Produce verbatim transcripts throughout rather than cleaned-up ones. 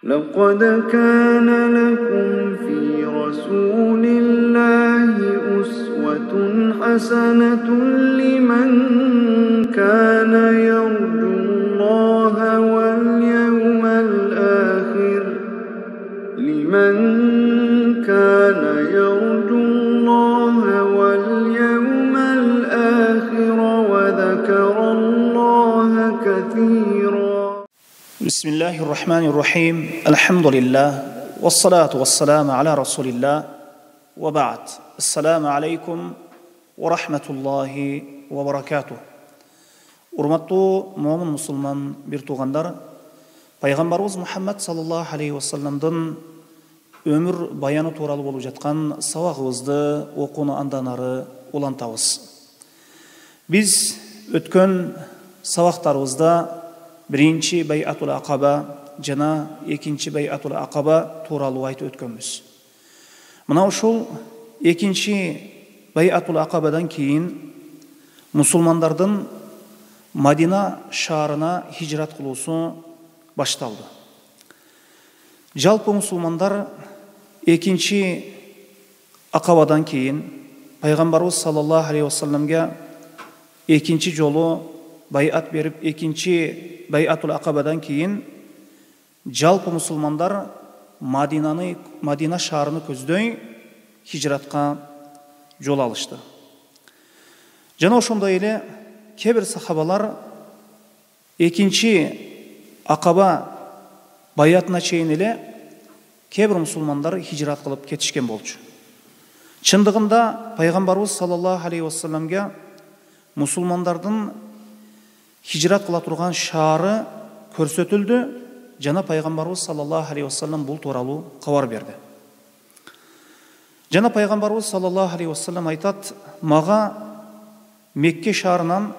لقد كان لكم في رسول الله أسوة حسنة لمن كان يرجو الله واليوم الآخر لمن كان يرجو الله واليوم الآخر وذكر الله كثيرا. بسم الله الرحمن الرحيم. الحمد لله والصلاة والسلام على رسول الله وبعد. السلام عليكم ورحمة الله وبركاته. Урматтуу момун мусулман бир туугандар, пайгамбарыбыз Мухаммад саллаллаху алейхи вассаламдын өмүр баяны тууралуу болуп жаткан сабагыбызды окууну андан ары улантабыз. Биз өткөн сабактарыбызда биринчи Байатул Акаба жана экинчи Байатул Акаба тууралуу айтып өткөнбүз. Мына ушул экинчи Байатул Акабадан кийин мусулмандардын Мадина шаарына хижрат кылуусу башталды. Жалпы мусулмандар экинчи Акабадан кийин пайгамбарыбыз саллаллаху алейхи вассаламга экинчи жолу байат берип, экинчи Байатул Акабадан кийин жалпы мусулмандар Мадинаны, Мадина шаарыны көздөй хижратка жол алышты. Жана ошондой эле кээ бир сахабалар экинчи Акаба баятына чейин эле кээ бир мусулмандар хижрат кылып кетишкен болчу. Чындыгында пайгамбарыбыз саллаллаху алейхи вассаламга мусулмандардын хижрат кыла турган шаары көрсөтүлдү жана пайгамбарыбыз саллаллаху алейхи вассалам бул тууралуу кабар берди. Жана пайгамбарыбыз саллаллаху алейхи вассалам айтат: "Мага Мекке шаарынан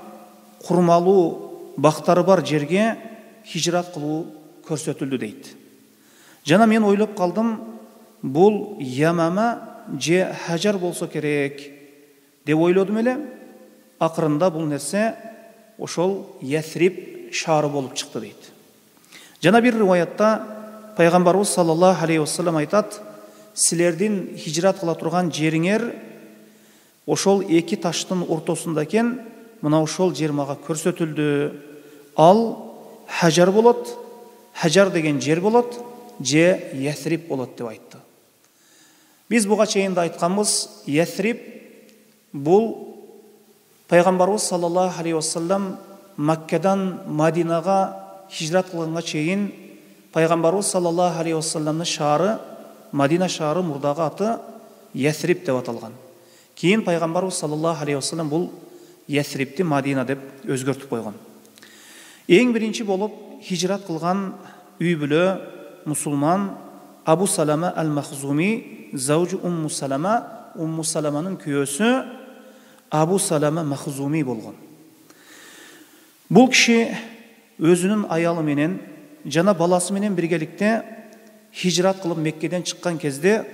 курмалуу бактары бар жерге хижрат кылуу көрсөтүлдү" дейт. Жана мен ойлоп калдым, бул Ямама же Хажар болсо керек деп ойлодум эле. Акырында бул нерсе ошол Ясрип шаары болуп чыкты дейт. Жана бир риваятта пайгамбарыбыз саллаллаху алейхи вассалам айтат: "Силердин хижрат кыла турган жериңер ошол эки таштын ортосунда экен, мына ошол жер мага көрсөтүлдү. Ал Хажар болот, Хажар деген жер болот, же Ясрип болот" деп айтты. Биз буга чейин да айтканбыз, Ясрип бул пайгамбарыбыз саллаллаху алейхи вассалам Маккадан Мадинага хижрат кылганга чейин пайгамбарыбыз саллаллаху алейхи вассаламдын шаары, Мадина шаары мурдагы аты Ясрип деп аталган. Кийин пайгамбарыбыз саллаллаху алейхи вассалам бул Ясрипти Мадина деп өзгөртүп койгон. Эң биринчи болуп хижрат кылган үй бүлө мусулман Абу Салама аль-Махзуми, заужу Умму Салама, Умму Саламанын күйөөсү Абу Салама Махзуми болгон. Бул киши өзүнүн аялы менен жана баласы менен биргеликте хижрат кылып Меккеден чыккан кезде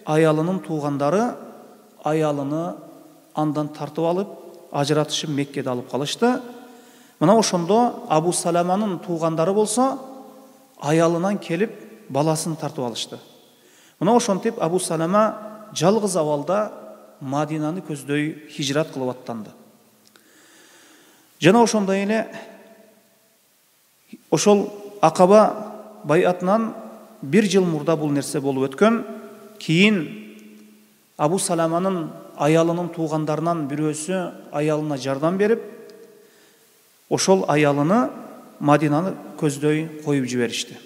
аялынын туугандары аялыны андан тартып алып, ажыратышып Меккеде алып калышты. Мына ошондо Абу Саламанын туугандары болсо аялынан келип баласын тартып алышты. Мына ошентип Абу Салама жалгыз абалда Мадинаны көздөй хижрат кылып аттанды. Жана ошондой эле ошол Акаба байатынан бир жыл мурда бул нерсе болуп өткөн. Кийин Абу Саламанын аялынын туугандарынан бирөөсү аялына жардам берип, ошол аялыны Мадинаны көздөй коюп жиберишти.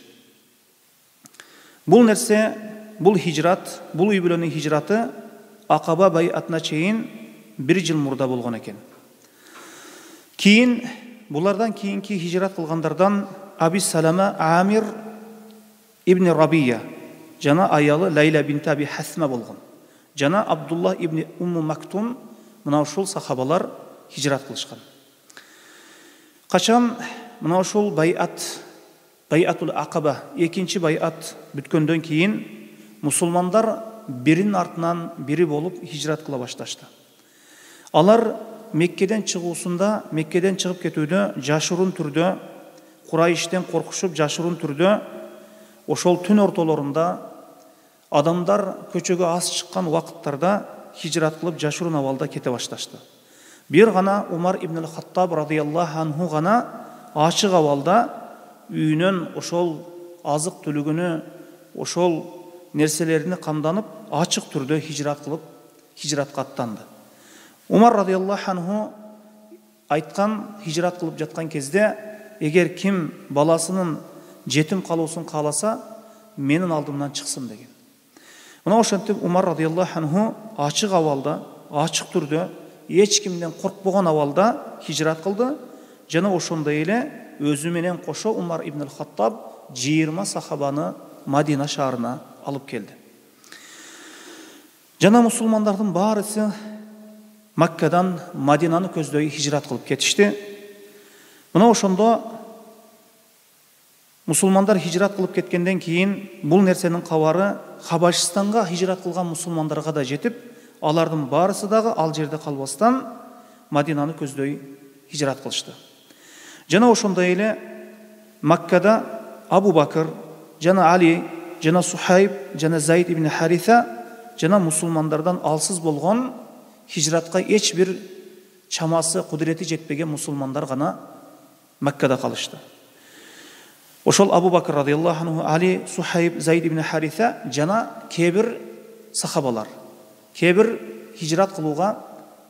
Бул нерсе, бул хижрат, бул үй бүлөнүн хижраты Акаба байатына чейин бир жыл мурда болгон экен. Кийин булардан кийинки хижрат кылгандардан Аби Салама Амир ибн Рабия жана аялы Лайла бинт Аби Хасма болгон. Жана Абдулла ибн Умму Мактум, мына ушул сахабалар хижрат кылышкан. Качан мына ушул байат, Байатул Акаба, экинчи байат бүткөндөн кийин мусулмандар биринин артынан бири болуп хижрат кыла башташты. Алар Меккеден чыгуусунда, Меккеден чыгып кетүүдө жашыруун түрдө, Курайштен коркушуп жашыруун түрдө ошол түн ортолорунда адамдар көчөгө аз чыккан убакыттарда хижрат кылып жашыруун абалда кете башташты. Бир гана Умар ибн Хаттаб радыйаллаху анху гана ачык абалда үйүнөн ошол азык түлүгүнө, ошол нерселерине камданып, ачык түрдө хижрат кылып, хижратка аттанды. Умар радыйаллаху анху айткан, хижрат кылып жаткан кезде, эгер ким баласынын жетим калуусун кааласа, менин алдымдан чыксын деген. Мына ошентип Умар радыйаллаху анху ачык абалда, ачык түрдө, эч кимден коркпогон абалда хижрат кылды. Жана ошондой эле өзү менен кошо Умар ибн Хаттаб жыйырма сахабаны Мадина шаарына алып келди. Жана мусулмандардын баарысы Маккадан Мадинаны көздөй хижрат кылып кетишти. Мына ошондо мусулмандар хижрат кылып кеткенден кийин бул нерсенин кабары Хабашистанга хижрат кылган мусулмандарга да жетип, алардын баарысы дагы ал жерде калбастан Мадинаны көздөй хижрат кылышты. Жана ошондой эле Маккада Абу Бакыр, жана Али, жана Сухайб, жана Заид ибн Хариса, жана мусулмандардан алсыз болгон, хижратка эч бир чамасы, кудурети жетпеген мусулмандар гана Маккада калышты. Ошол Абу Бакыр радыйаллаху анху, Али, Сухайб, Заид ибн Хариса жана кебир сахабалар, кебир хижрат кылууга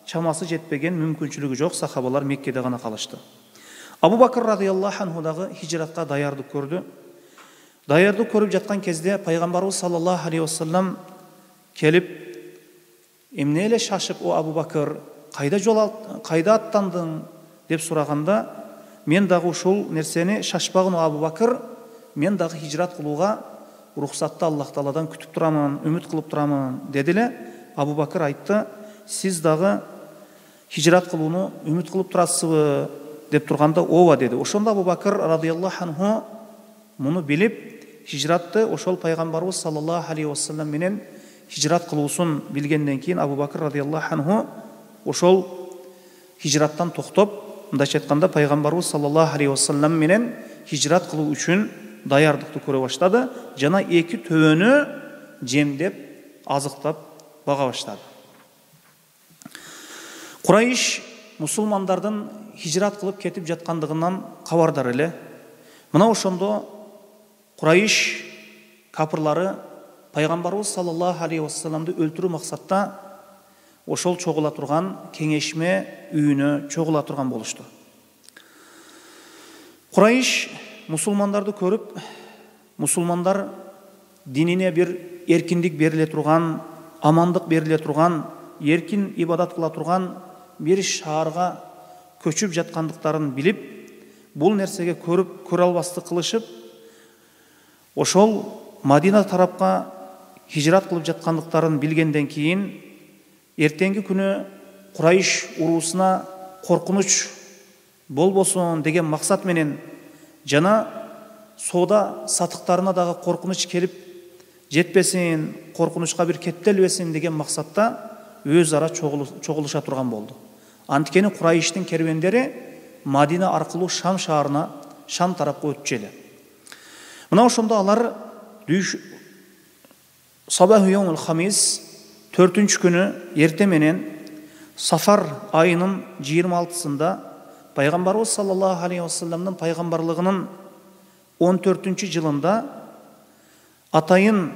чамасы жетпеген, мүмкүнчүлүгү жок сахабалар Меккеде гана калышты. Абу Бакыр радыйаллаху анху дагы хижратка даярдык көрдү. Даярдык көрүп жаткан кезде пайгамбарыбыз саллаллаху алейхи вассалам келип, эмне эле шашып, о Абу Бакыр, кайда жол кайда аттандың деп сураганда, мен дагы ушул нерсени шашпагын о Абу Бакыр, мен дагы хижрат кылууга уруксатты Аллах Тааладан күтүп турамын, үмүт кылып турамын деди эле. Абу Бакыр айтты, сиз дагы хижрат кылууну үмүт кылып турасызбы деп турганда, ооба деди. Ошондо Абу Бакыр радыйаллаху анху муну билип, хижратты ошол пайгамбарыбыз саллаллаху алейхи вассалам менен хижрат кылуусун билгенден кийин Абу Бакыр радыйаллаху анху ошол хижраттан токтоп, мындайча айтканда пайгамбарыбыз саллаллаху алейхи вассалам менен хижрат кылуу үчүн даярдыкты көрө баштады, жана эки төбөнү жемдеп, азыктап бага баштады. Курайш мусулмандардын хижрат кылып кетип жаткандыгынан кабардар эле. Мына ошондо Курайш капырлары пайгамбарыбыз саллаллаху алейхи вассаламды өлтүрүү максатта ошол чогула турган кеңешме үйүнө чогула турган болушту. Курайш мусулмандарды көрүп, мусулмандар динине бир эркиндик бериле турган, амандык бериле турган, эркин ибадат кыла турган бир шаарга көчүп жаткандыктарын билип, бул нерсеге көрүп көрө албастык кылышып, ошол Мадина тарапка хижрат кылып жаткандыктарын билгенден кийин, эртеңки күнү Курайш уруусуна коркунуч болбосун деген максат менен, жана соода сатыктарына дагы коркунуч келип жетпесин, коркунучка бир кептелбесин деген максатта өз ара чогулуша турган болду. Анткени Курайштин кербендери Мадина аркылуу Шам шаарына, Шам тарапка өтчү эле. Мына ошондо алар Сабаху йомул хамис, төртүнчү күнү эрте менен Сафар айынын жыйырма алтысында пайгамбарыбыз саллаллаху алейхи вассаламдын пайгамбарлыгынын он төртүнчү жылында атайын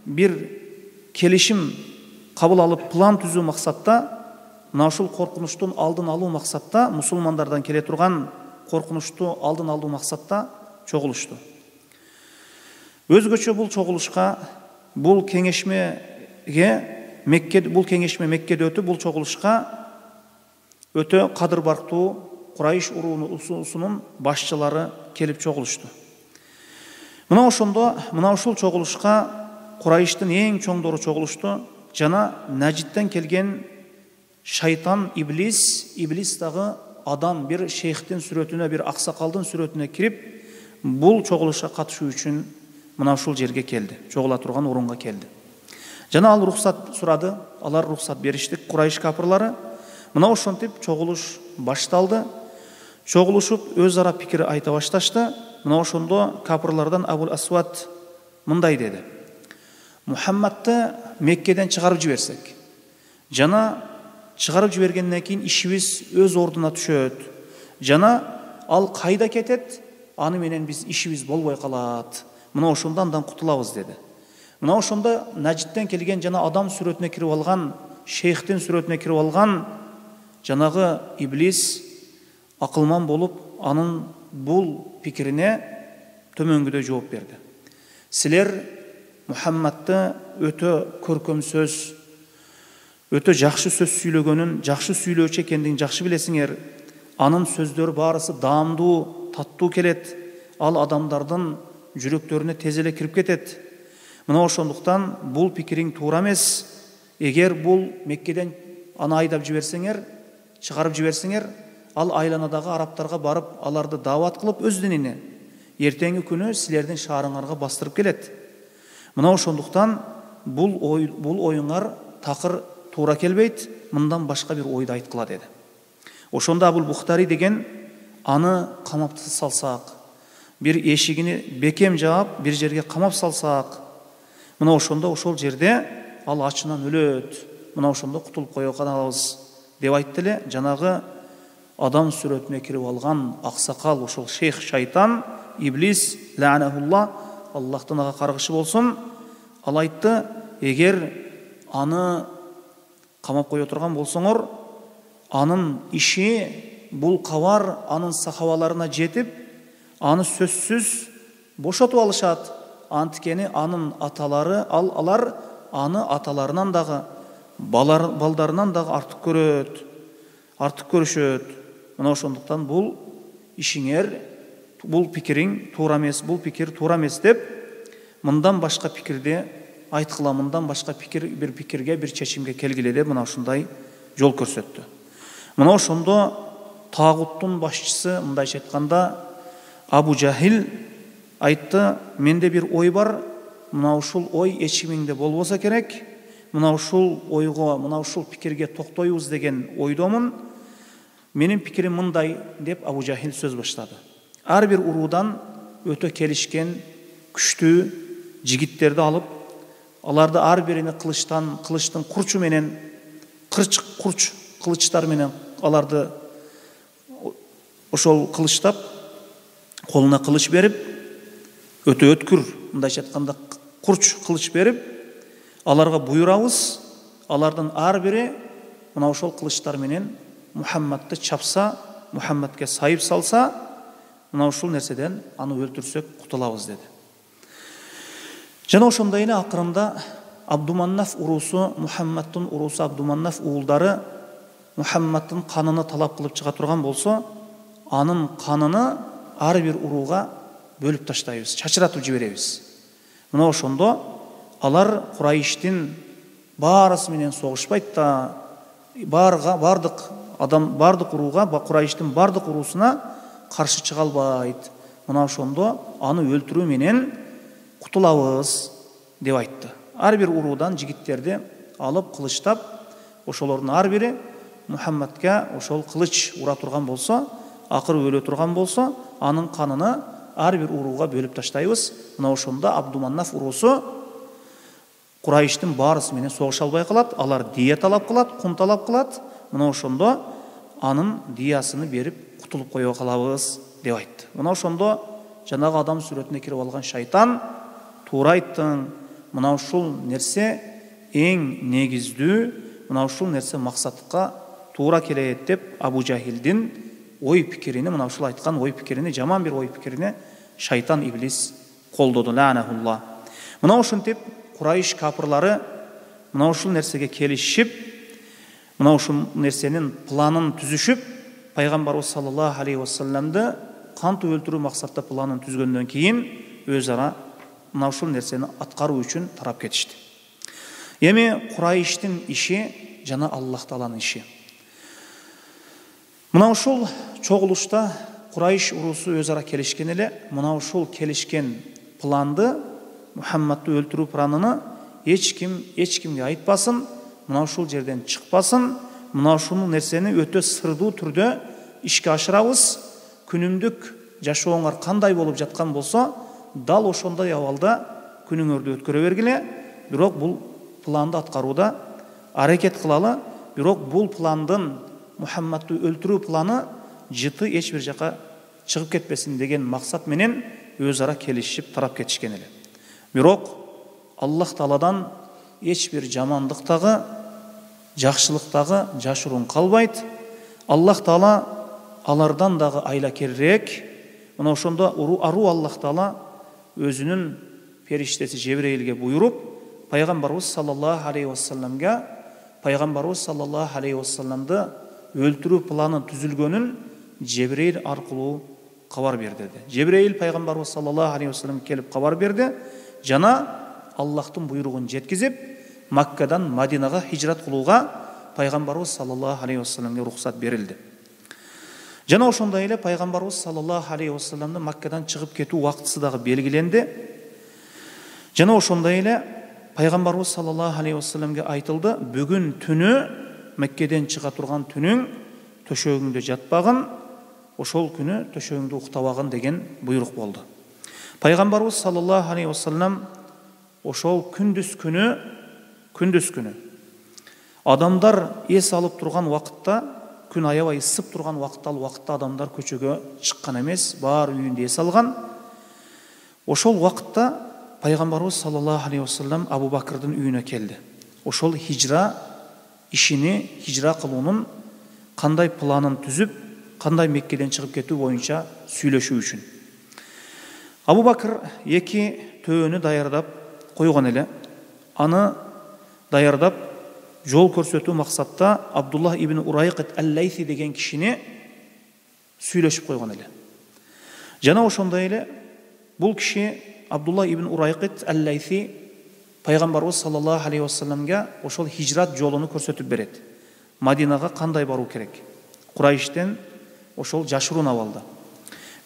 бир келишим кабыл алып, план түзүү максатта, мына ушул коркунучтун алдын алуу максатта, мусулмандардан келе турган коркунучту алдын алуу максатта чогулушту. Өзгөчө бул чогулушка, бул кеңешмеге Мекке, бул кеңешме Меккеде өтүп, бул чогулушка өтө кадыр барктуу Курайш уруусунун башчылары келип чогулушту. Мына ошондо, мына ушул чогулушка Курайштын эң чоңдору чогулушту, жана Нажидтен келген шайтан Иблис, Иблис дагы адам бир шейхтин сүрөтүнө, бир аксакалдын сүрөтүнө кирип, бул чогулушка катышуу үчүн мына ушул жерге келди, чогула турган орунга келди. Жана ал рухсат сурады, алар рухсат бериштик, Курайш капырлары. Мына ошентип чогулуш башталды. Чогулушуп өз ара пикир айта башташты. Мына ошондо капырлардан Абул Асвад мындай деди: Мухаммадты Меккеден чыгарып жиберсек, жана чыгарып жибергенден кийин ишибиз өз ордуна түшөт, жана ал кайда кетет, аны менен биз ишибиз болбой калат. Мына ошондо андан кутулабыз деди. Мына ошондо Нажидтен келген жана адам сүрөтүнө кирип алган, шейхтин сүрөтүнө кирип алган жанагы иблис акылман болуп, анын бул пикирине төмөнгүдөй жооп берди: силер Мухаммадты өтө көркөм сөз, өтө жакшы сөз сүйлөгөнүн, жакшы сүйлөөчү экендигин жакшы билесиңер. Анын сөздөрү баарысы даамдуу, таттуу келет. Ал адамдардын жүрөктөрүнө тез эле кирип кетет. Мына ошондуктан бул пикириң туура эмес. Эгер бул Меккеден аны айдап жиберсеңер, чыгарып жиберсеңер, ал айланадагы арабтарга барып, аларды даават кылып өз динине, эртеңки күнү силердин шаарыңарга бастырып келет. Мына ошондуктан бул ой, бул оюңар такыр туура келбейт. Мындан башка бир ойду айткыла деди. Ошондо Абул Бухтари деген аны камап салсак, бир эшигини бекем жаап, бир жерге камап салсак, мына ошондо ошол жерде ал ачынан өлөт. Мына ошондо кутулуп кое калабыз деп айтты эле. Жанагы адам сүрөтүнө кирип алган аксакал, ошол шейх шайтан, иблис, лаанахулла, Аллахтан ага каргышы болсун, ал айтты: эгер аны камап кое турган болсоңор, анын иши, бул кабар анын сахабаларына жетип, аны сөзсүз бошотуп алышат. Антикени анын аталары, ал алар аны аталарынан дагы, балар, балдарынан дагы артык көрөт, артык көрүшөт. Мына ошондуктан бул ишиңер, бул пикириң туура эмес, бул пикир туура эмес деп, мындан башка пикирди айткыла, мындан башка пикир, бир пикирге, бир чечимге келгиле деп мына ушундай жол көрсөттү. Мына ошондо тагуттун башчысы, мындайча айтканда Абу Жахил айтты: менде бир ой бар, мына ушул ой эчимиңде болбосо керек, мына ушул ойго, мына ушул пикирге токтойбуз деген ойдомун. Менин пикирим мындай деп Абу Жахил сөз баштады. Ар бир уруудан өтө келишкен, күчтүү жигиттерди алып, аларды ар бирине кылычтан, кылычтын курчу менен, кырч курч кылычтар менен аларды ошол кылычтап, колуна кылыч берип, өтө өткүр, мындайча айтканда курч кылыч берип, аларга буйрабыз, алардын ар бири мына ошол кылычтар менен Мухаммадты чапса, Мухаммадке сайып салса, мына ушул нерседен аны өлтүрсөк кутулабыз деди. Жана ошондой эле акырында Абдуманнаф уруусу, Мухаммадтын уруусу Абдуманнаф уулдары Мухаммадтын каныны талап кылып чыга турган болсо, анын каныны ар бир урууга бөлүп таштайбыз, чачыратып жиберебиз. Мына ошондо алар Курайштин баарысы менен согушпайт да, барга бардык адам, бардык урууга, Курайштин бардык уруусуна каршы чыга албайт. Мына ошондо аны өлтүрүү менен кутулабыз деп айтты. Ар бир уруудан жигиттерди алып кылычтап, ошолордун ар бири Мухаммадка ошол кылыч ура турган болсо, акыры өлө турган болсо, анын каныны ар бир урууга бөлүп таштайбыз. Мына ошондо Абдуманнаф уруусу Курайштин баарысы менен согуша албай калат, алар дия талап кылат, кун талап кылат. Мына ошондо анын диясыны берип кутулуп кое калабыз деп айтты. Мына ошондо жанагы адам сүрөтүнө кирип алган шайтан: туура айттың, мына ушул нерсе эң негиздүү, мына ушул нерсе максатка туура келет деп Абу Жахилдин ой пикирини, мына ушул айткан ой пикирини, жаман бир ой пикирини шайтан, иблис колдоду, лаанахулла. Мына ушинтип Курайш капырлары мына ушул нерсеге келишип, мына ушул нерсенин планын түзүшүп, пайгамбарыбыз саллаллаху алейхи вассаламды кантип өлтүрүү максатта планын түзгөндөн кийин өз ара мына ушул нерсени аткаруу үчүн тарап кетишти. Эми Курайштин иши жана Аллах Тааланын иши. Мына ушул чогулушта Курайш уруусу өз ара келишкен эле. Мына ушул келишкен планды, Мухаммадты өлтүрүү планын эч ким эч кимге айтпасын, мына ушул жерден чыкпасын, мына ушул нерсени өтө сырдуу түрдө ишке ашырабыз. Күнүмдүк жашооңар кандай болуп жаткан болсо, дал ошондой абалда күнүңөрдү өткөрө бергиле, бирок бул планды аткарууда аракет кылалы, бирок бул пландын Мухаммадты өлтүрүү планы жыты эч бир жака чыгып кетпесин деген максат менен өз ара келишип тарап кетишкен эле. Бирок Аллах Тааладан эч бир жамандыктагы, жакшылыктагы жашыруун калбайт. Аллах Таала алардан дагы айлакерирээк. Мына ошондо ару Аллах Таала өзүнүн периштеси Жебреилге буйруп, пайгамбарыбыз саллаллаху алейхи вассаламга пайгамбарыбыз саллаллаху алейхи вассаламды өлтүрүү планын түзүлгөнүн Жебреил аркылуу кабар берди. Жебреил пайгамбарыбыз саллаллаху алейхи вассаламга келип кабар берди жана Аллахтын буйругун жеткизип, Маккадан Мадинага хижрат кылууга пайгамбарыбыз саллаллаху алейхи вассаламга уруксат берилди. Жана ошондой эле пайгамбарыбыз саллаллаху алейхи вассаламдын Маккадан чыгып кетүү убактысы дагы белгиленди. Жана ошондой эле пайгамбарыбыз саллаллаху алейхи вассаламга айтылды: "Бүгүн түнү Меккеден чыга турган түнүң төшөгүңдө жатпагын, ошол күнү төшөгүңдө уктабагын" деген буйрук болду. Пайгамбарыбыз саллаллаху алейхи вассалам ошол күндүз күнү күндүз күнү адамдар эс алып турган убакытта, күн аябай ысып турган убакытта, ал убакытта адамдар көчөгө чыккан эмес, баары үйүндө эс алган. Ошол убакытта пайгамбарыбыз саллаллаху алейхи вассалам Абу Бакрдын үйүнө келди. Ошол хижра ишини, хижра кылуунун кандай планын түзүп, кандай Меккеден чыгып кетүү боюнча сүйлөшүү үчүн. Абу Бакр эки төөнү даярдап койгон эле. Аны даярдап жол көрсөтүү максатта Абдуллах ибн Урайкат ал-Лайси деген кишини сүйлөшүп койгон эле. Жана ошондой эле бул киши Абдуллах ибн Урайкат ал-Лайси пайгамбарыбыз саллаллаху алейхи вассаламга ошол хижрат жолуну көрсөтүп берет. Мадинага кандай баруу керек? Курайштен ошол жашыруун абалда.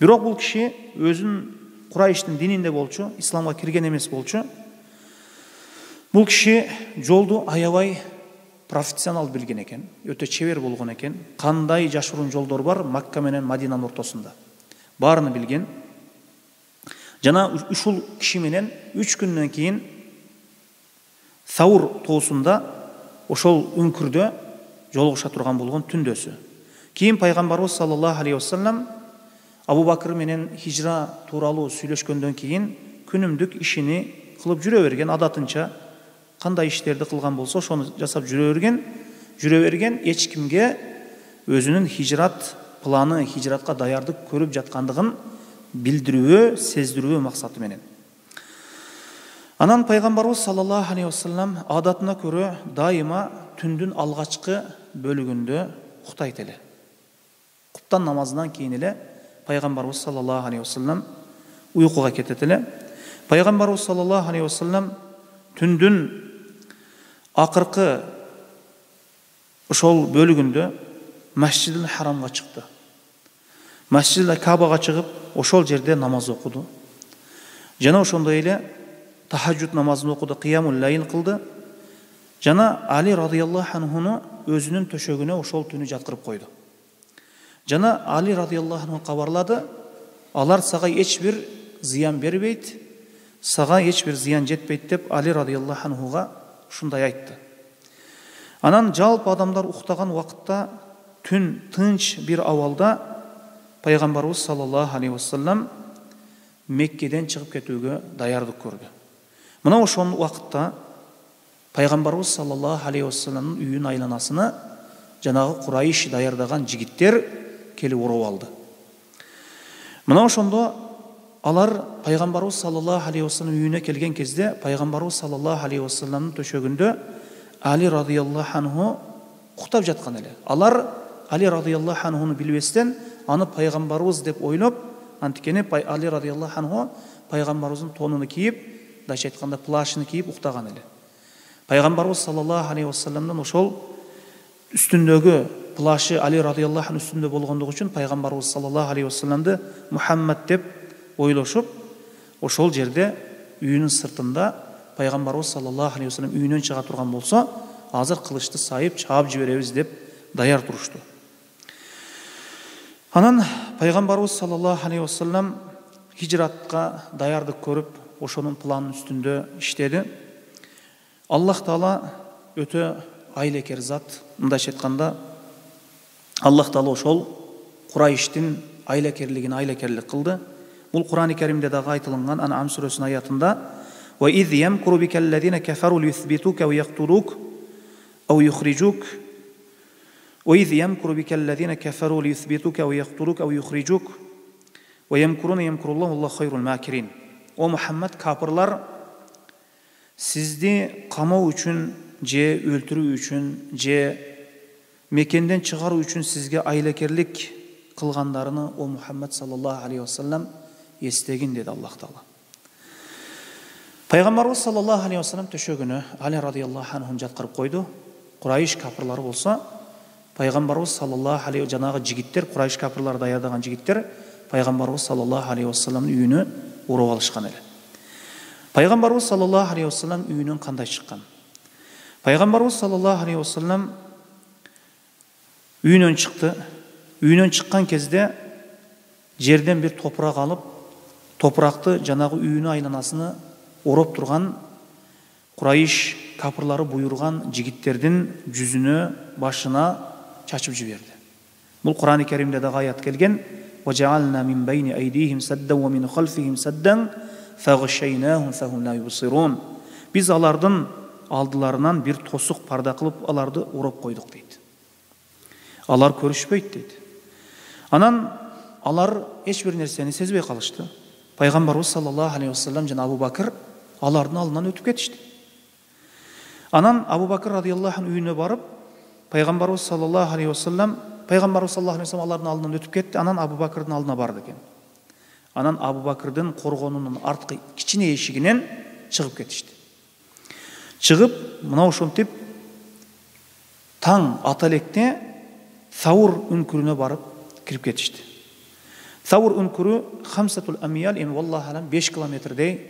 Бирок бул киши өзүн Курайштын дининде болчу, исламга кирген эмес болчу. Бул киши жолду аябай профессионал билген экен, өтө чебер болгон экен. Кандай жашыруун жолдор бар Макка менен Мадинанын ортосунда, баарыны билген. Жана ушул киши менен үч күндөн кийин Саур тоосунда ошол үңкүрдө жолугуша турган болгон түндөсү. Кийин пайгамбарыбыз саллаллаху алейхи вассалам Абу Бакр менен хижра тууралуу сүйлөшкөндөн кийин күнүмдүк ишини кылып жүрө берген, адатынча кандай иштерди кылган болсо ошону жасап жүрө берген, жүрө берген, эч кимге өзүнүн хижрат планы, хижратка даярдык көрүп жаткандыгын билдирүү, сездирүү максаты менен. Анан пайгамбарыбыз саллаллаху алейхи вассалам адатына көрө дайыма түндүн алгачкы бөлүгүндө уктайт эле. Куптан намазынан кийин эле пайгамбарыбыз саллаллаху алейхи вассалам уйкуга кетет эле. Пайгамбарыбыз саллаллаху алейхи вассалам түндүн акыркы ошол бөлүгүндө Масжидил Харамга чыкты. Масжидил Кабага чыгып, ошол жерде намаз окуду. Жана ошондой эле тахажжуд намазын окуду, кыямул лайл кылды. Жана Али радыйаллаху анхуну өзүнүн төшөгүнө ошол түнү жаткырып койду. Жана Али радыйаллаху анху кабарлады: "Алар сага эч бир зыян бербейт, сага эч бир зыян жетпейт" деп Али радыйаллаху анхуга ушундай айтты. Анан жалпы адамдар уктаган убакытта түн тынч бир абалда пайгамбарыбыз саллаллаху алейхи вассалам Меккеден чыгып кетүүгө даярдык көрдү. Мына ошол убакытта пайгамбарыбыз саллаллаху алейхи вассаламдын үйүнүн айланасына жанагы Курайш даярдаган жигиттер келип уруп алды. Мына ошондо алар пайгамбарыбыз саллаллаху алейхи вассалам үйүнө келген кезде пайгамбарыбыз саллаллаху алейхи вассаламдын төшөгүндө Али радыйаллаху анху уктап жаткан эле. Алар Али радыйаллаху анхуну билбестен аны пайгамбарыбыз деп ойлоп, антикени Али радыйаллаху анху пайгамбарыбыздын тонуну кийип, дайча айтканда плашын кийип уктаган эле. Пайгамбарыбыз саллаллаху алейхи вассаламдын ошол үстүндөгү плашы Али радыйаллаху анху үстүндө болгондугу үчүн пайгамбарыбыз саллаллаху алейхи вассаламды Мухаммад деп ойлошуп, ошол жерде үйүнүн сыртында пайгамбарыбыз саллаллаху алейхи вассалам үйүнөн чыга турган болсо, азыр кылычты сайып чаап жиберебиз деп даяр турушту. Анан пайгамбарыбыз саллаллаху алейхи вассалам хижратка даярдык көрүп, ошонун планын үстүндө иштеди. Аллах Таала өтө айлекер зат. Мындайча айтканда, Аллах Таала ошол Курайштин айлекерлигин айлекерлик кылды. Бул Кур'ан-ы Каримде дагы айтылган Ан'ам сүрөсүнүн аятында: "Ва из ямкуру бикаллазина кафару лиюсбитука ва яктулук ау юхриджук ва из ямкуру бикаллазина кафару лиюсбитука ва яктулук ау юхриджук ва ямкуруна ямкуруллаху валлаху хайрул макирин." О Мухаммад, капырлар сизди камоо үчүн же өлтүрүү үчүн же мекенден чыгаруу үчүн сизге айлекерлик кылгандарыны о Мухаммад саллаллаху алейхи вассалам эстегин, деди Аллах Таала. Пайгамбарыбыз саллаллаху алейхи вассалам төшөгүнө Али радыйаллаху анхун жаткырып койду. Курайш капырлары болсо, пайгамбарыбыз саллаллаху алейхи жанагы жигиттер, Курайш капырлары даярдаган жигиттер пайгамбарыбыз саллаллаху алейхи вассаламдын үйүнө уруп алышкан эле. Пайгамбарыбыз саллаллаху алейхи вассалам үйүнөн кандай чыккан? Пайгамбарыбыз саллаллаху алейхи вассалам үйүнөн чыкты. Үйүнөн чыккан кезде жерден бир топурак алып, топуракты жанагы үйүнүн айланасына ороп турган Курайш капырлары буйруган жигиттердин жүзүнө, башына чачып жиберди. Бул Кур'ан-ы Каримде дагы аят келген: "Важаална мин байни айдихим саддан ва мин халфихим саддан фагшайнахум фахум ла юбсирун." Биз алардын алдыларынан бир тосук парда кылып, аларды ороп койдук дейт. Алар көрүшпөйт дейт. Анан алар эч бир нерсени сезбей калышты. Пайгамбарыбыз саллаллаху алейхи вассалам жана Абу Бакыр алардын алдынан өтүп кетишти. Анан Абу Бакыр радыйаллаху анху үйүнө барып, Пайгамбарыбыз саллаллаху алейхи вассалам, Пайгамбарыбыз саллаллаху алейхи вассалам алардын алдынан өтүп кетти. Анан Абу Бакырдын алдына барды экен. Анан Абу Бакырдын коргонунун арткы кичине эшигинен чыгып кетишти. Чыгып, мына ошентип таң ата электе Саур үңкүрүнө барып кирип кетишти. Саур үңкүрү хамсатул амиял, эми валлаху алам беш километрдей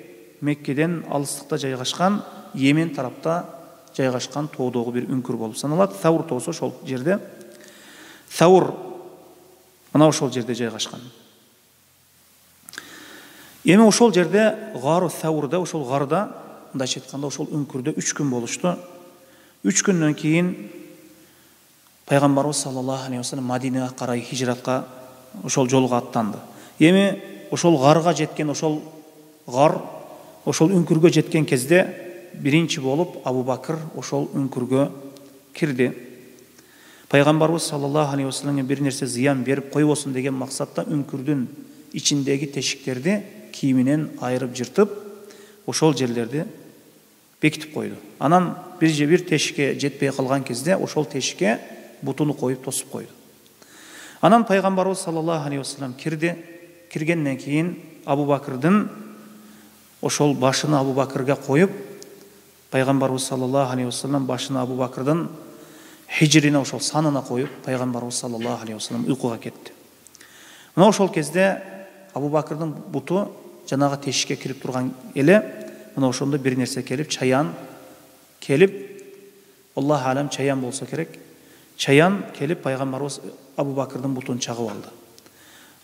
Меккеден алыстыкта жайгашкан, Йемен тарапта жайгашкан тоодогу бир үңкүр болуп саналат. Саур тоосу ошол жерде. Саур мына ошол жерде жайгашкан. Эми ошол жерде Гару Саурда, ошол гарда, мындайча айтканда ошол үңкүрдө үч күн болушту. үч күндөн кийин Пайгамбарыбыз саллаллаху алейхи вассалам Мадинага карай хижратка ошол жолго аттанды. Эми ошол гарга жеткен, ошол гар, ошол үңкүргө жеткен кезде биринчи болуп Абу Бакыр ошол үңкүргө кирди. Пайгамбарыбыз саллаллаху алейхи вассаламга бир нерсе зыян берип койбосун деген максатта үңкүрдүн ичиндеги тешиктерди кийиминен айырып жыртып, ошол жерлерди бекитип койду. Анан бир же бир тешикке жетпей калган кезде ошол тешикке бутуну коюп тосуп койду. Анан Пайгамбарыбыз саллаллаху алейхи вассалам кирди. Киргенден кийин Абу Бакырдын ошол башын Абу Бакырга коюп, Пайгамбарыбыз саллаллаху алейхи вассалам башын Абу Бакырдын хижрине, ошол санына коюп, Пайгамбарыбыз саллаллаху алейхи вассалам уйкуга кетти. Мына ошол кезде Абу Бакырдын буту жанагы тешикке кирип турган эле, мына ошондо бир нерсе келип, чаян келип, Аллаху алам чаян болсо керек, чаян келип Пайгамбарыбыз Абу Бакырдын бутун чагып алды.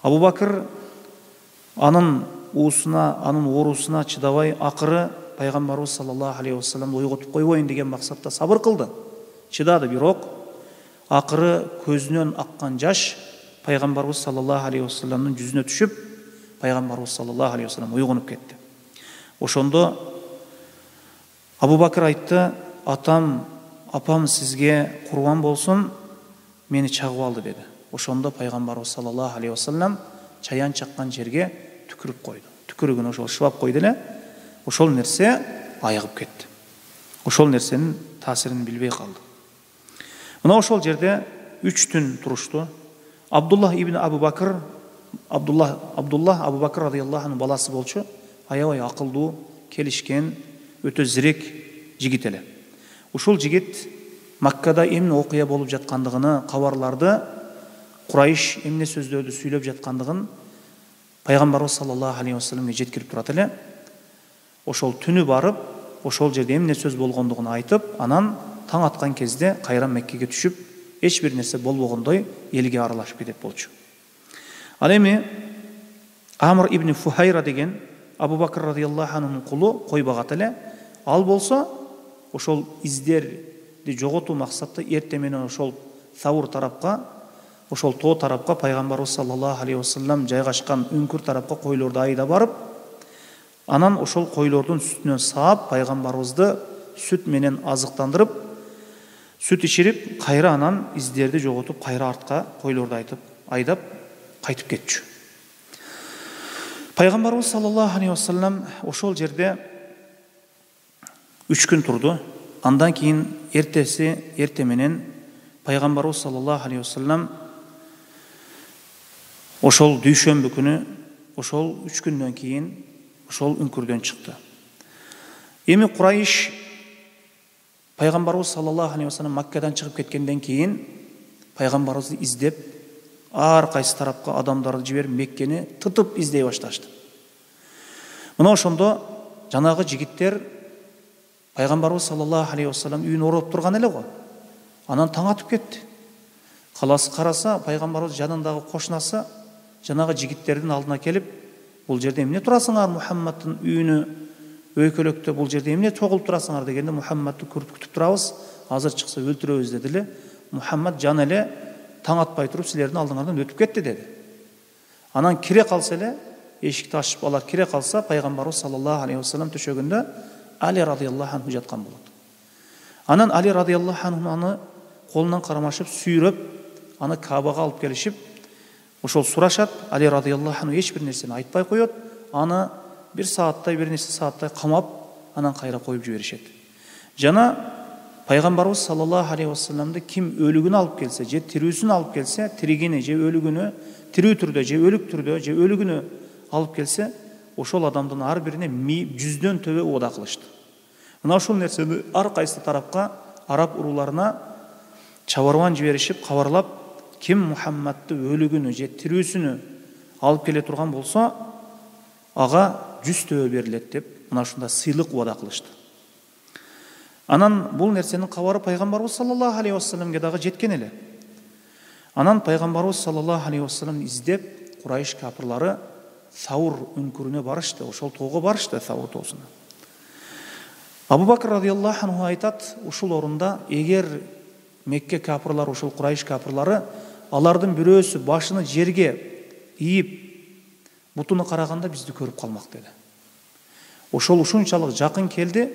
Абу Бакыр анын уусуна, анын оорусуна чыдабай, акыры Пайгамбарыбыз саллаллаху алейхи вассаламды ойготуп койбойн деген максатта сабыр кылды. Чыдады, бирок акыры көзүнөн аккан жаш Пайгамбарыбыз саллаллаху алейхи вассаламдын жүзүнө түшүп, Пайгамбарыбыз саллаллаху алейхи вассалам уйгонуп кетти. Ошондо Абу Бакыр айтты: "Атам, апам сизге курбан болсун, мени чагып алды" деди. Ошондо Пайгамбарыбыз саллаллаху алейхи вассалам чаян чаккан жерге түкүрүп койду. Түкүрүгүн ошол шыбап койду эле. Ошол нерсе айыгып кетти. Ошол нерсенин таасирин билбей калды. Мына ошол жерде үч түн турушту. Абдуллах ибн Абу Бакыр, Абдуллах, Абдуллах Абу Бакыр радыйаллаху анху баласы болчу, аябай акылдуу, келишкен, өтө зирек жигит эле. Ушул жигит Маккада эмне окуя болуп жаткандыгын, кабарларды, Курайш эмне сөздөрдү сүйлөп жаткандыгын Пайгамбарыбыз саллаллаху алейхи вассаламга жеткирип турат эле. Ошол түнү барып, ошол жерде эмне сөз болгондугун айтып, анан таң аткан кезде кайра Меккеге түшүп, эч бир нерсе болбогондой элге аралашып кетет болчу. Ал эми Амр ибн Фухайра деген Абу Бакр радиаллаху анхунун кулу кой багат эле. Ал болсо ошол издерди жоготуу максатта эртең менен ошол Саур тарапка, ошол тоо тарапка пайгамбарыбыз саллаллаху алейхи вассалам жайгашкан үңкүр тарапка койлорду айда барып, анан ошол койлордун сүтүнөн саап пайгамбарыбызды сүт менен азыктандырып, сүт ичирип, кайра анан издерди жоготуп, кайра артка койлорду айтып, айдап кайтып кетчү. Пайгамбарыбыз саллаллаху алейхи вассалам ошол жерде үч күн турду. Андан кийин эртеси, эрте менен пайгамбарыбыз саллаллаху алейхи вассалам ошол дүйшөмбү күнү, ошол үч күндөн кийин ошол үңкүрдөн чыкты. Эми Курайш пайгамбарыбыз саллаллаху алейхи вассалам Маккадан чыгып кеткенден кийин пайгамбарыбызды издеп, ар кайсы тарапка адамдарды жиберип Меккени тытып издей башташты. Мына ошондо жанагы жигиттер пайгамбарыбыз саллаллаху алейхи вассалам үйүн ороп турган эле го. Анан таң атып кетти. Каласы караса, пайгамбарыбыз жанындагы кошунасы жанагы жигиттердин алдына келип, бул жерде эмне турасыңар, Мухаммадтын үйүнү өйкөлөктө бул жерде эмне чогулуп турасыңар дегенде, Мухаммадты көрүп күтүп турабыз, азыр чыкса өлтүрөбүз деди эле. Мухаммад жан эле таң атпай туруп силердин алдыңардан өтүп кетти деди. Анан кире калса эле, эшикти ачып алар кире калса, пайгамбарыбыз саллаллаху алейхи вассалам төшөгөндө Али радиаллаху анху жаткан болот. Анан Али радиаллаху анху аны колунан кармашып, сүйрөп, аны Кабага алып келишип, ошол сурашат. Али радиаллаху анху эч бир нерсени айтпай коет. Аны бир сааттай, бир нече сааттай камап, анан кайра коюп жиберишет. Жана пайгамбарыбыз саллаллаху алейхи вассаламды ким өлүгүн алып келсе, же тирүүсүн алып келсе, тиригини же өлүгүнө, тирүү түрдө же өлүк түрдө же өлүгүнө алып келсе, ошол адамдын ар бирине жүздөн төбө убада кылышты. Мына ошол нерсени ар кайсы тарапка, араб уруларына чабарман жиберишип, кабарлап, ким Мухаммадты өлүгүнү же тирүүсүнү алып келе турган болсо, ага жүз төбө берилет деп, мына ушундай сыйлык убада кылышты. Анан бул нерсенин кабары пайгамбарыбыз саллаллаху алейхи вассаламга дагы жеткен эле. Анан пайгамбарыбыз саллаллаху алейхи вассалам издеп, Курайш капырлары Саур үңкүрүнө барышты, ошол тоого барышты, Саур тоосуна. Абу Бакр радиаллаху анху айтат, ушул орунда эгер Мекке капырлары, ушул Курайш капырлары, алардын бирөөсү башыны жерге ийип, бутуну караганда бизди көрүп калмак деди. Ошол ушунчалык жакын келди,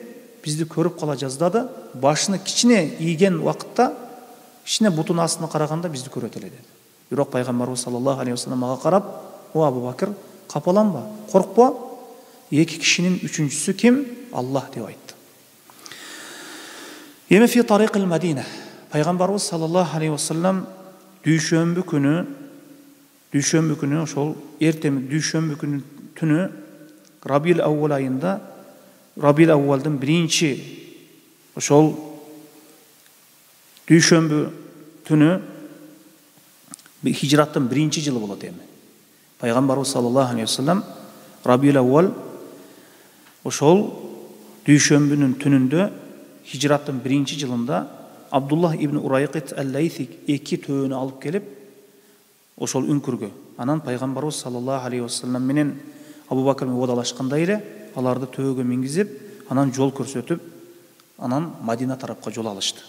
бизди көрүп кала жаздады, башыны кичине ийген убакытта, кичине бутун астына караганда бизди көрөт эле деди. Бирок пайгамбарыбыз саллаллаху алейхи вассалам мага карап, "О Абу Бакр, капаланба, коркпо. Эки кишинин үчүнчүсү ким? Аллах" деп айтты. Эми фи тарикил Мадина. Пайгамбарыбыз саллаллаху алейхи вассалам дүйшөмбү күнү, дүйшөмбү күнү ошол эртең дүйшөмбү күнү түнү Рабил Ауал айында, Рабил Ауалдын биринчи ошол дүйшөмбү түнү хижраттын биринчи жылы болот эми. Пайгамбарыбыз саллаллаху алейхи вассалам Рабил Ауал ошол дүйшөмбүнүн түнүндө хижраттын биринчи жылында Абдуллах ибн Урайкит ал-Лайси эки төөнү алып келип ошол үңкүргө. Анан пайгамбарыбыз саллаллаху алейхи вассалам менен Абу Бакр убадалашкандай эле аларды төөгө мингизип, анан жол көрсөтүп, анан Мадина тарапка жол алышты.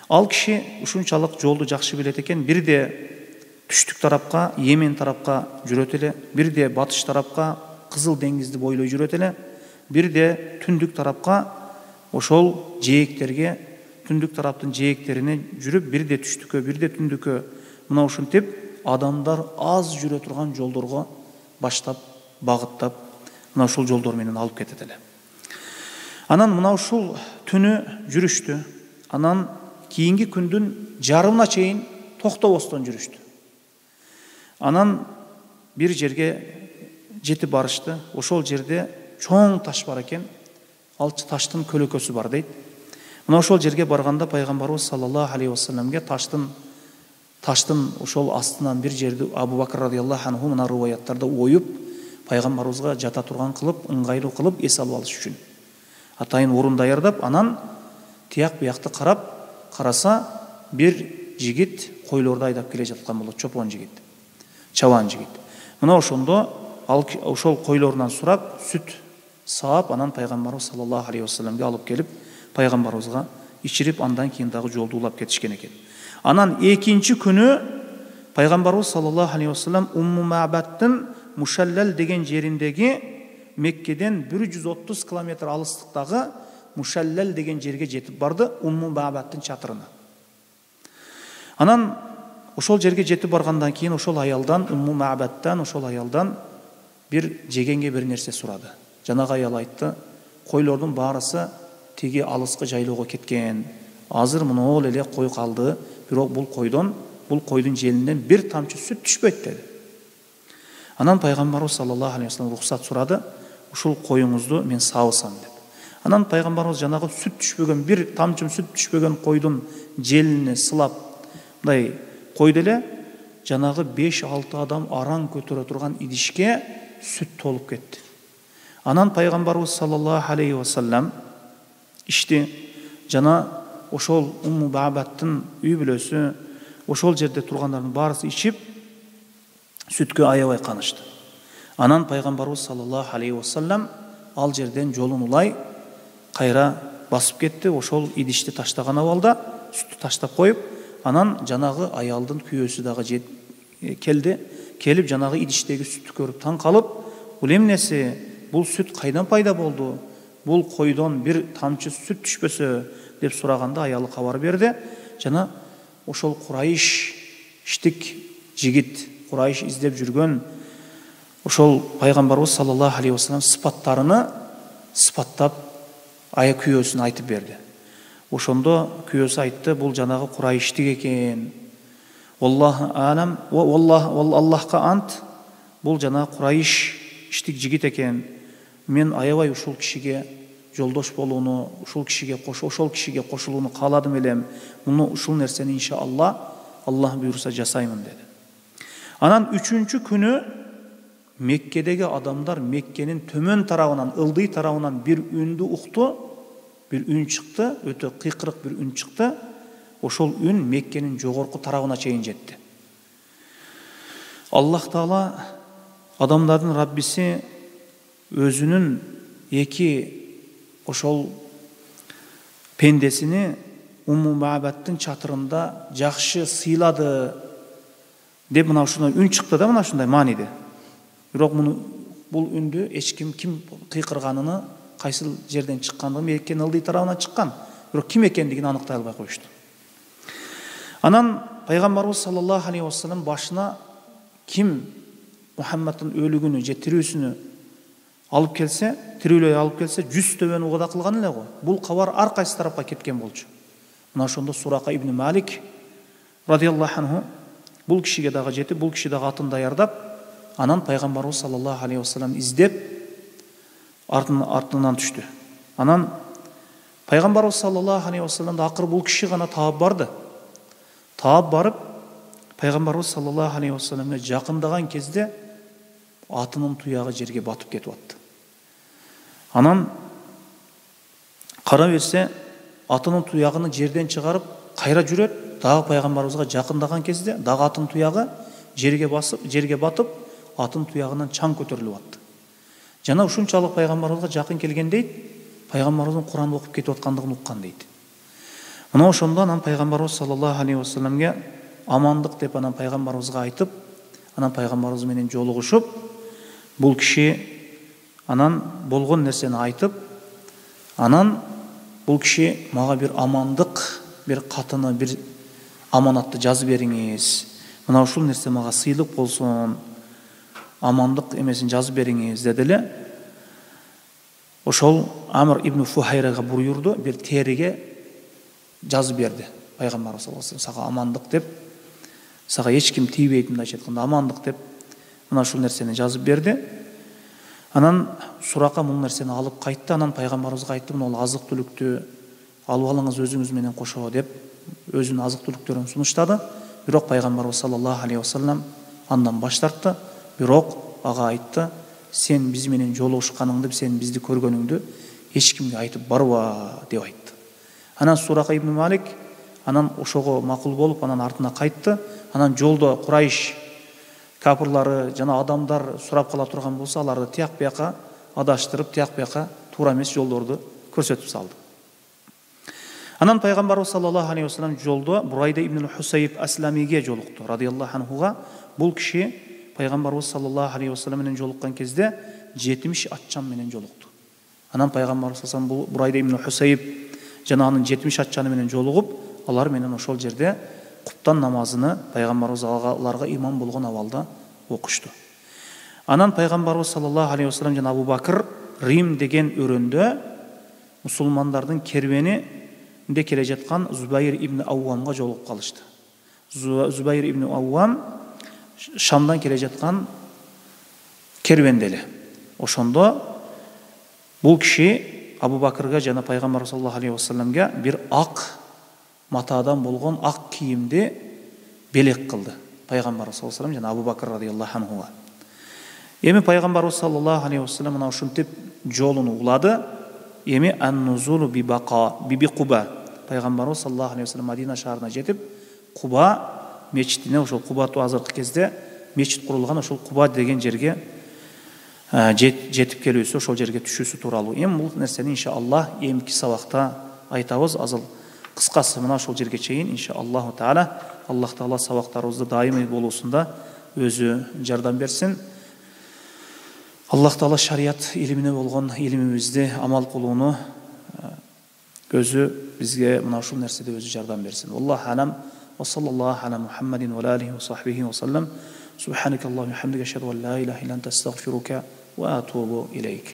Ал киши ушунчалык жолду жакшы билет экен, бирде түштүк тарапка, Йемен тарапка жүрөт эле, бирде батыш тарапка, Кызыл деңизди бойлой жүрөт эле, бирде түндүк тарапка, ошол жээктерге, түндүк тараптын жээктерине жүрүп, бирде түштүккө, бирде түндүккө, мына ушинтип адамдар аз жүрө турган жолдорго баштап, багыттап, мына ушул жолдор менен алып кетет эле. Анан мына ушул түнү жүрүштү. Анан кийинки күндүн жарымына чейин токтобостон жүрүштү. Анан бир жерге жетип барышты. Ошол жерде чоң таш бар экен. Ал таштын көлөкөсү бар дейт. Мына ошол жерге барганда пайгамбарыбыз саллаллаху алейхи вассаламга таштын таштын ошол астынан бир жерди Абу Бакр радиаллаху анху мына риваяттарда оюп, пайгамбарыбызга жата турган кылып, ыңгайлуу кылып эс алып алыш үчүн. Атайын орун даярдап, анан тияк биякты карап, караса бир жигит койлорду айдап келе жаткан болот, чопон жигит, чабан жигит. Мына ошондо ал ошол койлорунан сурап сүт саап, анан пайгамбарыбыз саллаллаху алейхи вассаламга алып келип пайгамбарыбызга ичирип, андан кийин дагы жолду улап кетишкен экен. Анан экинчи күнү пайгамбарыбыз саллаллаху алейхи вассалам Умму Маъбадтын Мушаллал деген жериндеги Меккеден бир жүз отуз километр алыстыктагы Мушаллал деген жерге жетип барды, Умму Маъбадтын чатырына. Анан ошол жерге жетип баргандан кийин ошол аялдан, Умму Маъбадтан, ошол аялдан бир жегенге бир нерсе сурады. Жанагы аял айтты: "Койлордун баарысы тиги алыскы жайлоого кеткен. Азыр монол эле кой калды, бирок бул койдон, бул койдун желинен бир тамчы сүт түшпөйт" деди. Анан пайгамбарыбыз саллаллаху алейхи вассалам рухсат сурады: "Ушул коюңузду мен сабысам" деп. Анан пайгамбарыбыз жанагы сүт түшпөгөн, бир тамчы сүт түшпөгөн койдун желине сылап мындай койду эле, жанагы беш алты адам араң көтөрө турган идишке сүт толуп кетти. Анан пайгамбарыбыз саллаллаху алейхи вассалам ичти. Жана ошол Умму Маъбадтын үй бүлөсү, ошол жерде тургандардын баарысы ичип, сүткө аябай канышты. Анан пайгамбарыбыз саллаллаху алейхи вассалам ал жерден жолун улай кайра басып кетти. Ошол идишти таштаган абалда сүттү таштап коюп, анан жанагы аялдын күйөөсү дагы келди. Келип жанагы идиштеги сүттү көрүп таң калып: "Бул эмнеси? Бул сүт кайдан пайда болду? Бул койдон бир тамчы сүт түшпөсө?" деп сураганда аялы кабар берди. Жана ошол Курайш иштик жигит, Курайш издеп жүргөн ошол пайгамбарыбыз саллаллаху алейхи вассалам сыпаттарыны сыпаттап ая күйөөсүн айтып берди. Ошондо күйөөсү айтты: "Бул жанагы Курайштик экен. Аллаху алам, Аллахка ант, бул жанагы Курайш иштик жигит экен. Мен аябай ушул кишиге жолдош болууну, ушул кишиге кош, ошол кишиге кошулууну кааладым элем. Муну ушул нерсени иншалла Аллах буйруса жасаймын" деди. Анан үчүнчү күнү Меккедеги адамдар Меккенин төмөн тарабынан, ылдый тарабынан бир үндү укту. Бир үн чыкты, өтө кыйкырык бир үн чыкты. Ошол үн Меккенин жогорку тарабына чейин жетти. Аллах Таала, адамдардын Раббиси, өзүнүн эки ошол пендесини Умму Маъбадтын чатырында жакшы сыйлады деп мына ушундай үн чыкты да, мына ушундай мааниде. Бирок муну бул үндү эч ким ким кыйкырганын, кайсыл жерден чыккандыгын, Меккенин ылдый тарабынан чыккан, бирок ким экендигин аныктай албай коюшту. Анан пайгамбарыбыз саллаллаху алейхи вассалам башына ким Мухаммадтын өлүгүнү же тирүүсүнү алып келсе, тирүүлөй алып келсе, жүз төбөнү угада кылган эле го. Бул кабар ар кайсы тарапка кеткен болчу. Мына ошондо Сурака ибн Малик радиаллаху анху бул кишиге дагы жетип, бул киши дагы атын даярдап, анан пайгамбарыбыз саллаллаху алейхи вассалам издеп артынан артынан түштү. Анан пайгамбарыбыз саллаллаху алейхи вассаламды акыры бул киши гана таап барды. Таап барып, пайгамбарыбыз саллаллаху алейхи вассаламга жакындаган кезде атынын туягы жерге батып кетип атты. Анан кара берсе, атынын туягын жерден чыгарып кайра жүрөт, дагы пайгамбарыбызга жакындаган кезде дагы атынын туягы жерге басып, жерге батып, атын туягынан чаң көтөрүлүп атты. Жана ушунчалык пайгамбарыбызга жакын келген дейт, пайгамбарыбыздын Куран окуп кетип аткандыгын уккан дейт. Мына ошондо анан пайгамбарыбыз саллаллаху алейхи вассаламга амандык деп анан пайгамбарыбызга айтып, анан пайгамбарыбыз менен жолугушуп, бул киши анан болгон нерсени айтып, анан бул киши мага бир амандык, бир катыны, бир аманатты жазып бериңиз. Мына ушул нерсе мага сыйлык болсун. Амандык эмесин жазып бериңиз деди эле. Ошол Амр ибн Фухайрага буйрду, бир териге жазып берди. Пайгамбарыбыз саллаллаху алейхи вассалам сага амандык деп, сага эч ким тийбейт мындайча айтканда амандык деп, мына ушул нерсени жазып берди. Анан Сурака бул нерсени алып кайтты. Анан пайгамбарыбызга айтты: "Мына азык түлүктү алып алыңыз өзүңүз менен кошо" деп өзүнүн азык түлүктөрүн сунуштады. Бирок пайгамбарыбыз саллаллаху алейхи вассалам андан баш тартты. Бирок ага айтты: "Сен биз менен жолугушканыңды, сен бизди көргөнүңдү эч кимге айтып барба" деп айтты. Анан Сурака ибн Малик анан ошого макул болуп, анан артына кайтты. Анан жолдо Курайш капырлары жана адамдар сурап кала турган болсо, аларды тияк бияка адаштырып, тияк бияка туура эмес жолдорду көрсөтүп салды. Анан пайгамбарыбыз саллаллаху алейхи вассалам жолдо Бурайда ибн Хусайб Асламиге жолукту, радияллаху анхуга. Бул киши пайгамбарыбыз саллаллаху алейхи вассалам менен жолуккан кезде жетимиш атчан менен жолукту. Анан пайгамбарыбыз саллаллаху алейхи вассалам Бурайда ибн Хусайб жана анын жетимиш атчаны менен жолугуп, алар менен ошол жерде куптан намазыны пайгамбарыбыз аларга имам болгон абалда окушту. Анан пайгамбарыбыз саллаллаху алейхи вассалам жана Абу Бакыр Рим деген өрөндө мусулмандардын кербенинде келе жаткан Зубайр ибн Ауамга жолугуп калышты. Зубайр ибн Ауам Шамдан келе жаткан кербенде эле. Ошондо бул киши Абу Бакырга жана пайгамбар саллаллаху алейхи вассаламга бир ак матадан болгон ак кийимди белек кылды. Пайгамбар саллаллаху алейхи вассалам жана Абу Бакыр радияллаху анхуга. Эми пайгамбарыбыз саллаллаху алейхи вассалам мына ушинтип жолун улады. Эми ан-нузулу би бака би Куба. Пайгамбарыбыз саллаллаху алейхи вассалам Мадина шаарына жетип, Куба мечитине, ошол Куба азыркы кезде мечит курулган ошол Куба деген жерге жетип келүүсү, ошол жерге түшүүсү тууралуу. Эми бул нерсени иншаллах эмки сабакта айтабыз. Азыр кыскасы мына ошол жерге чейин иншаллаху таала. Аллах таала сабактарыбызды дайымый болуусунда өзү жардам берсин. Аллах таала шарият илимине болгон илимибизди амал кылууну өзү бизге мына ушул нерседе өзү жардам берсин. Аллаху алам. Ва саллаллаху ала Мухаммадин ва алихи ва сахбихи ва салlam. Субханакаллахумма ва бихамдика, ашхаду ан ла илаха илля анта, астагфирука ва атубу илейк.